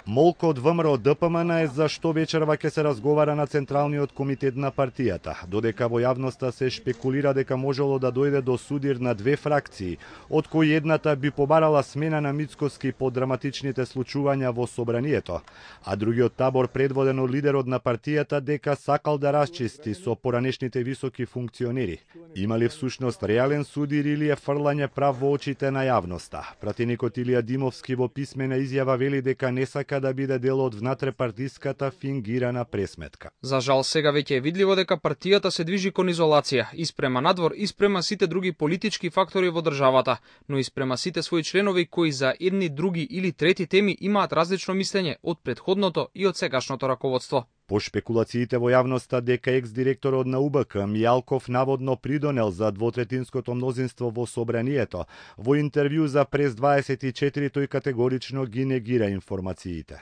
Молко од ВМРО ДПМН е за што вечерва ќе се разговара на Централниот комитет на партијата, додека во јавноста се шпекулира дека можело да дојде до судир на две фракции, од кои едната би побарала смена на Мицкоски по драматичните случувања во собранието, а другиот табор предводен од лидерот на партијата дека сакал да расчисти со поранешните високи функционери. Има ли всушност реален судир или е фрлање прав во очите на јавноста? Пратеникот Илија Димовски во писмена изјава вели дека не сака да биде дел од внатрепартиската фингирана пресметка. За жал сега веќе е видливо дека партијата се движи кон изолација, испрема надвор, испрема сите други политички фактори во државата, но испрема сите своји членови кои за едни, други или трети теми имаат различно мислење од претходното и од сегашното раководство. По шпекулациите во јавноста дека екс-директорот на УБК Мијалков наводно придонел за двотретинското мнозинство во собранието, во интервју за Прес 24 тој категорично ги негира информациите.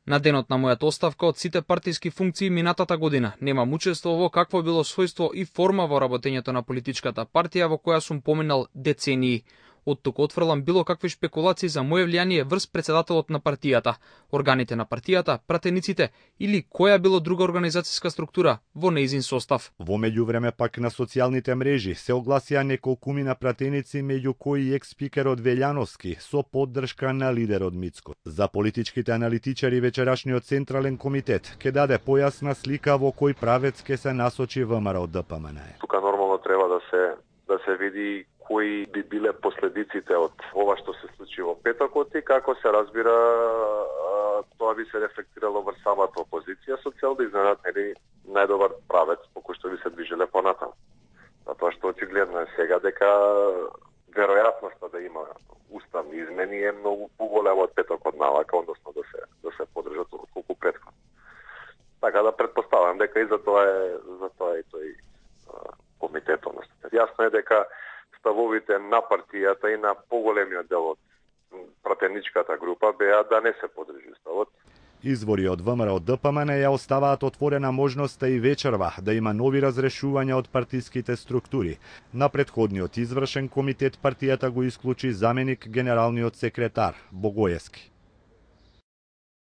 На денот на мојата оставка од сите партиски функции минатата година немам учество во какво било својство и форма во работењето на политичката партија во која сум поминал децении. Од тук отфрлам било какви шпекулации за моје влијание врз председателот на партијата, органите на партијата, пратениците или која било друга организацијска структура во нејзин состав. Во меѓувреме пак на социјалните мрежи се огласија неколкумина пратеници, меѓу кои екс-спикерот Велјановски со поддршка на лидерот Мицко. За политичките аналитичари вечерашниот Централен комитет ќе даде појасна слика во кој правец ќе се насочи ВМРО ДПМН. Тука нормално треба да се види кои би биле последиците од ова што се случи во петокот и како се разбира тоа би се рефлектирало врз самата опозиција со цел да изненат најдобар правец по кој што би се движеле понатаму. Затоа што очигледно е сега дека веројатноста да има уставни измени е многу поголема од петокот навака, односно да се подржат отколку претходно. Така да претпоставам дека и за тоа е тој комитет. Јасно е дека ставовите на партијата и на поголемиот дел од пратеничката група беа да не се подржи ставот. Извори од ВМРО ДПМН ја оставаат отворена можноста и вечерва да има нови разрешувања од партиските структури. На претходниот извршен комитет партијата го исклучи заменик генералниот секретар Богоевски.